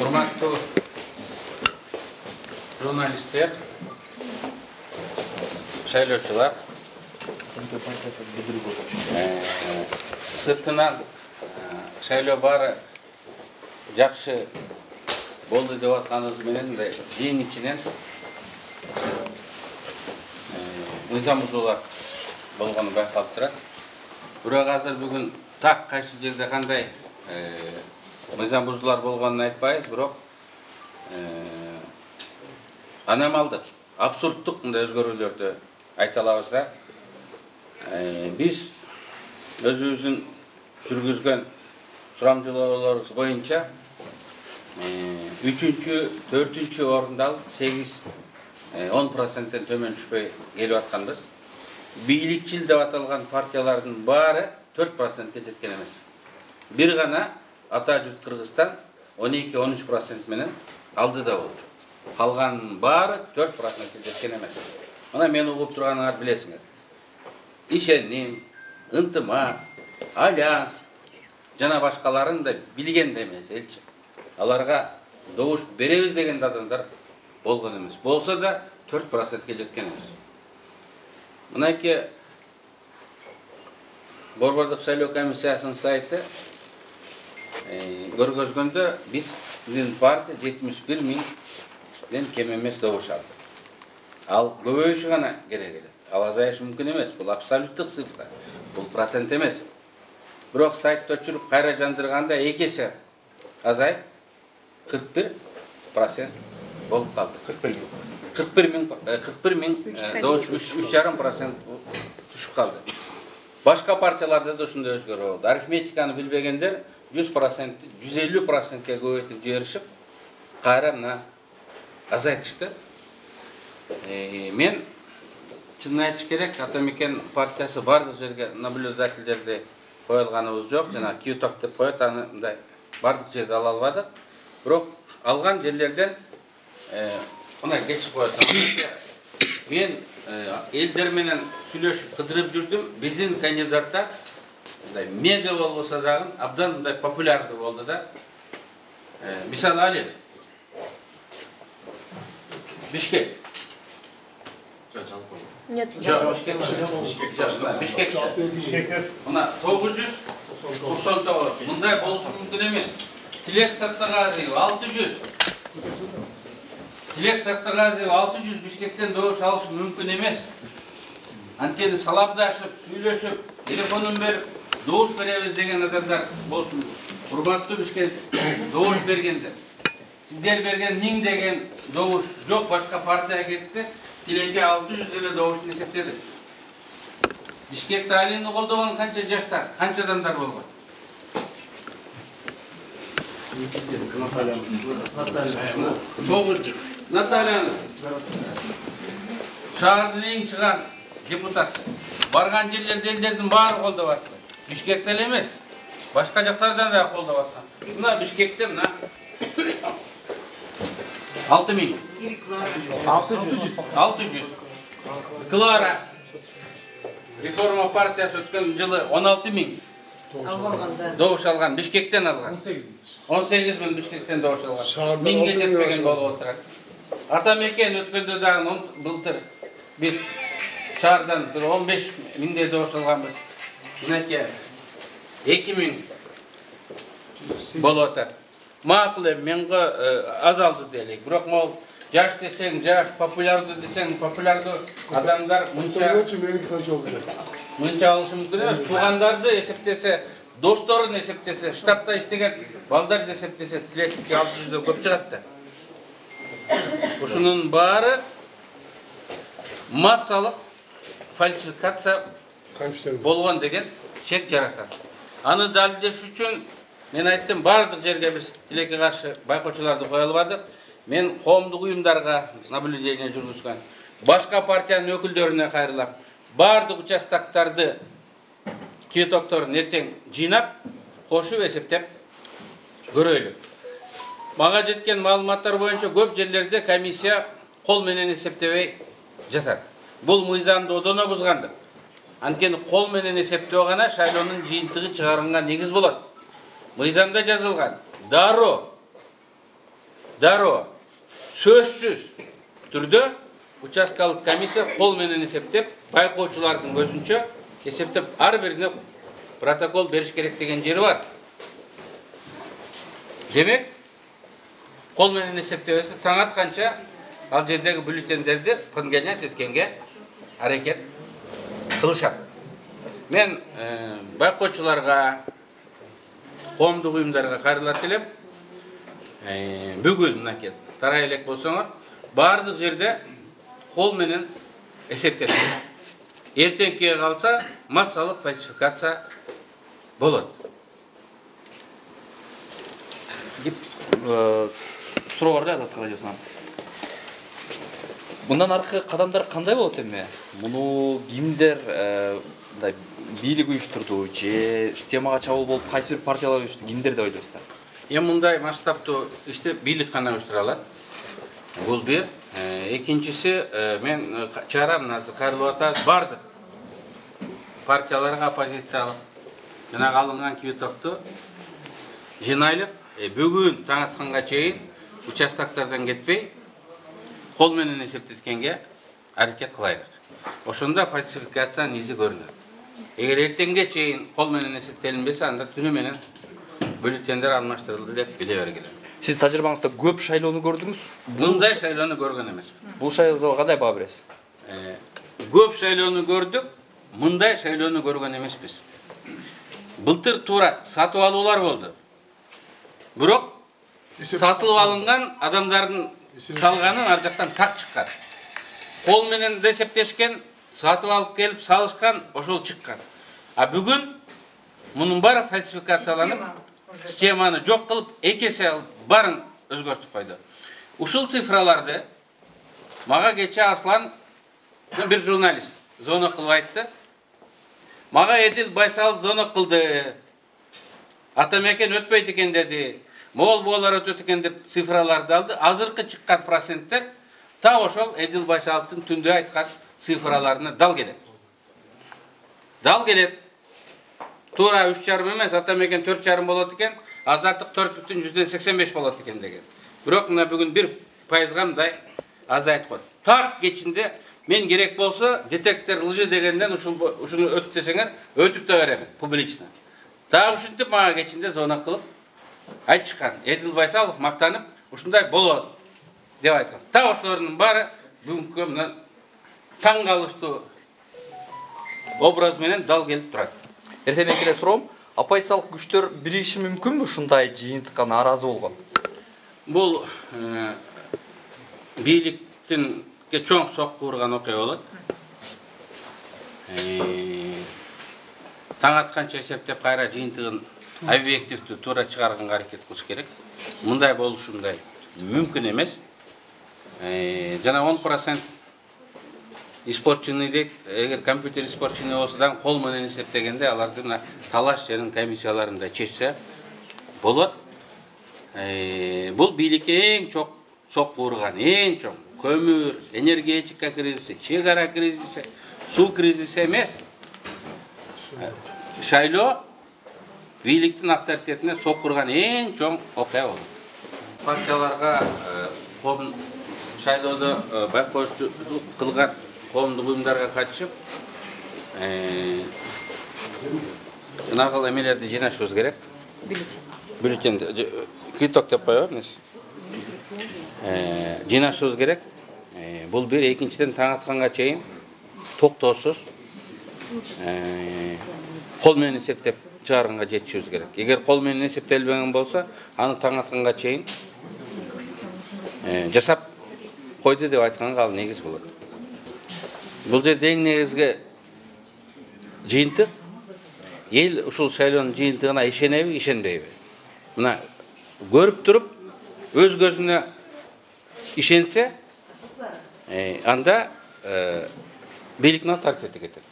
Урматтуу журналисттер, шайлоочулар, сыртынан шайлоо баары жакшы болду деп атканыбыз менен эң ичинен мыйзам бузуулар болгону байкалып турат. Бирок азыр бүгүн так кайсы жерде кандай мыйзам бузуулар болгонун айтпайбыз, бирок аномалдык, абсурдтук мындай өзгөрүүлөрдү айта алабыз да. Биз өзүбүздүн жүргүзгөн сурамжылоолорубуз боюнча 3-4 орунду алып 8-10%-тен төмөн түшпөй келип атканбыз. Бийликчил деп аталган партиялардын баары 4%-ке жеткен эмес. Бир гана Ата журт Кыргызстан 12-13% менен алдыда болчу. Калганын баары 4%-ке жеткен эмес. Мына мен угуп турганыңарды билесиңер. Ишеним, ынтымак, альянс жана башкаларын да билген да эмес элчи. Аларга добуш беребиз деген адамдар болгон эмес. Болсо да 4%-ке жеткен эмес. Мынайки Борбордук шайлоо комиссиясынын сайты көргөзгөндө биздин партия 71 000ден кем эмес добуш алды. Ал көбөйүшү гана керек эле. Ал азайышы мүмкүн эмес. Бул абсолюттук цифра. Бул процент эмес. Бирок сайтты өчүрүп кайра жандырганда 2 эсе азайып 41% болуп калды. 41 000 добуш 3,5% түшүп калды. Башка партияларда да ушундай өзгөрүү болду. Арифметиканы билбегендер 100%, 150%-ке көбөйтүп жиберишип, кайра мына азайтышты. Мен чынын айтыш керек, Ата Мекен партиясы бардык жерге наблюдательдерди коюлганыбыз жок, жана киюток деп коет, аны мындай бардык жерде ала албадык. Бирок алган жерлерден мына кечип коет. Мен элдер менен сүйлөшүп кыдырып жүрдүм. Биздин кандидаттар мындай мега болбосо дагы абдан мындай популярдуу болду да. Мисалы Али Бишкек. Нет, Бишкек. Мына 999. Мындай болушу мүмкүн эмес. Тилек Тактагазиев 600. Тилек Тактагазиев 600 Бишкектен добуш алышы мүмкүн эмес. Анткени саламдашып, сүйлөшүп, телефонун берип, добуш беребиз деген адамдар болсун. Урматтуу Бишкек добуш бергендер. Сиздер берген 1000 деген добуш жок, башка партия кетти. Тилекке 600 деле добушун эсептедик. Бишкекте Алини колдогон канча жаштар, канча адамдар болгон? Наталья шаардын эң чыган депутат. Барган жерлерде элдердин баары колдоп атты. Бишкекте эле эмес, башка жактардан да колдоп аткан. Мына Бишкекте мына 6000. 600. Клара Реформа партиясы өткөн жылы 16 000 добуш алган, Бишкектен алган. 18 000 Бишкектен добуш алган. 1000ге жетпеген болуп отурат. Ата Мекен өткөндө дагы былтыр биз шаардан 15 000 добуш алганбыз. Мынакей 2000 болуп атат. Макул эми менго азалды делик. Бирок могул жаш десең, жаш, популярдуу десең, популярдуу адамдар мынча алышы мүмкүн эмес. Туугандарды эсептесе, досторун эсептесе, штабта иштеген балдарды эсептесе, Тилекке 600 көп чыгат да. Ушунун баары массалык фальсификация болгон деген чек жаратат. Аны далилдеш үчүн мен айттым, бардык жерге биз Тилекке каршы байкоочуларды кое албадык. Мен коомдук уюмдарга наблюдение жүргүзгөн, башка партиянын өкүлдөрүнө кайрылам. Бардык участоктарды киютокторун эртең жыйнап, кошуп эсептеп көрөйлү. Мага жеткен маалыматтар боюнча көп жерлерде комиссия кол менен эсептебей жатат. Бул мыйзамды одоно бузгандык. Анткени кол менен эсептөө гана шайлоонун жыйынтыгын чыгарганга негиз болот. Мыйзамда жазылган. Дароо дароо сөзсүз түрдө участкалык комиссия кол менен эсептеп, байкоочулардын көзүнчө эсептеп ар бирине протокол бериш керек деген жери бар. Демек, кол менен эсептебесе таң атканча ал жердеги бюллетендерди подгонять эткенге аракет кылышат. Мен байкоочуларга, коомдук уюмдарга кайрылат элем. Бүгүн мынакей тарай элек болсоңор, бардык жерде кол менен эсептелет. Эртеңкиге калса массалык фальсификация болот. Суроо бар Азаттык радиосунан. Мындан аркы кадамдар кандай болот эми? Муну кимдер бийлик уюштурду же системага чабуул болуп кайсы бир партиялар уюштурду, кимдер деп ойлойсуздар? Мындай масштабтуу ишти бийлик гана уюштура алат. Бул бир. Экинчиси, мен чыгарам, азыр кайрылып атат, бардык партияларга оппозициялык жана алынган кибетокту жинайлык, бүгүн таң атканга чейин участоктардан кетпей, кол менен эсептеткенге аракет кылайлык. Ошондо фальсификациянын изи көрүнөт. Эгер эртеңге чейин кол менен эсептелинбесе, анда түнү менен бюллетендер алмаштырылды деп биле бергиле. Сиз тажрыйбаңызда көп шайлоону көрдүңүз? Мындай шайлоону көргөн эмес. Бул шайлоого кандай баа бересиз? Көп шайлоону көрдүк, мындай шайлоону көргөн эмеспиз. Былтыр туура сатып алуулар болду. Бирок сатылып алынган адамдардын салганын ар жактан так чыккан. Кол менен эсептешкен, сатып алып келип салышкан, ошол чыккан. А бүгүн мунун баары фальсификацияланып, системаны жок кылып, эки эсе баарын өзгөртүп койду. Ушул цифраларды мага кече Арслан, бир журналист, звонок кылып айтты. Мага Эдил Байсалов звонок кылды. Атамекен өтпөйт экен деди. Моолбоолор өтөт экен деп цифраларды алды. Азыркы чыккан проценттер та ошол Эдил Байсаловдун түндө айткан цифраларына дал келет. Дал келет. Туура 3,5 эмес, Атамекен 4,5 болот экен, Азаттык 4,85 болот экен деген. Бирок мына бүгүн 1%га мындай азайтып койду. Так кечинде мен керек болсо детектор лжи дегенден ушуну өт десеңер, өтүп да берем публично. Так ушинтип мага кечинде звонок кылып айтышкан. Эдил Байсалов мактанып, ушундай болот деп айткан. Так ошолордун баары бүгүнкү мына таң калыштуу образ менен дал келип турат. Эртең эле суроом, оппозициялык күчтөр биригиши мүмкүнбү ушундай жыйынтыкка нааразы болгон? Бул бийликтинге чоң сокку урган окуя болот. Таң атканча эсептеп кайра жыйынтыгын объективдүү туура чыгарганга аракет кылыш керек. Мындай болушу мындай мүмкүн эмес. Жана 10% испорченный дейт, эгер компьютер испорченный болсо кол менен эсептегенде алардын талаш жерин комиссияларында чечсе болот. Бул бийликке эң чоң сокку урган, эң чоң көмүр, энергетика кризиси, чек ара кризиси, суу кризиси эмес. Шайлоо бийликтин авторитетине сокку урган эң чоң окуя болот. Партияларга шайлоодо байкоочулук кылган коомдук уюмдарга катышып, жанагыл эмелерди жыйнашыбыз керек. Бюллетенди квиток деп коебуз. Жыйнашыбыз керек. Бул бир, экинчиден таң атканга чейин токтоосуз кол менен эсептеп чыгарганга жетишибиз керек. Эгер кол менен эсептелбеген болсо, аны таң атканга чейин жасап койду деп айтканга ал негиз болот. Бул жерде эң негизги жыйынтык эл ушул шайлоонун жыйынтыгына ишенеби, ишенбейби? Мына көрүп туруп өз көзүнө ишенсе, анда бийликтин авторитети кетет.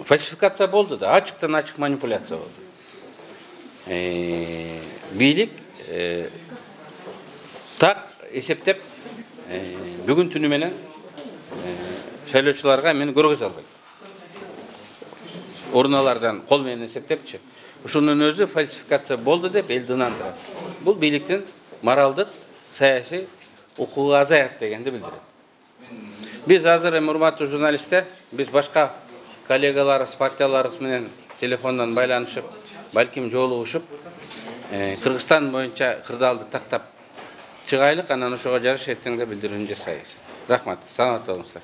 Фальсификация болду да, ачыктан ачык манипуляция болду. Бийлик так эсептеп бүгүн түнү менен шайлоочуларга мени көргөзө албайт. Урналардан кол менен эсептепчи. Ушунун өзү фальсификация болду деп элди ынандырат. Бул бийликтин моралдык, саясий укугу азаят дегенди билдирет. Биз азыр урматтуу журналисттер, биз башка коллегаларыбыз, партияларыбыз менен телефондон байланышып, балким жолугушуп, Кыргызстан боюнча кырдаалды тактап чыгайлык, анан ошого жараша эртеңде билдирүүнү жасайбыз. Рахмат, саламатта болуңуздар.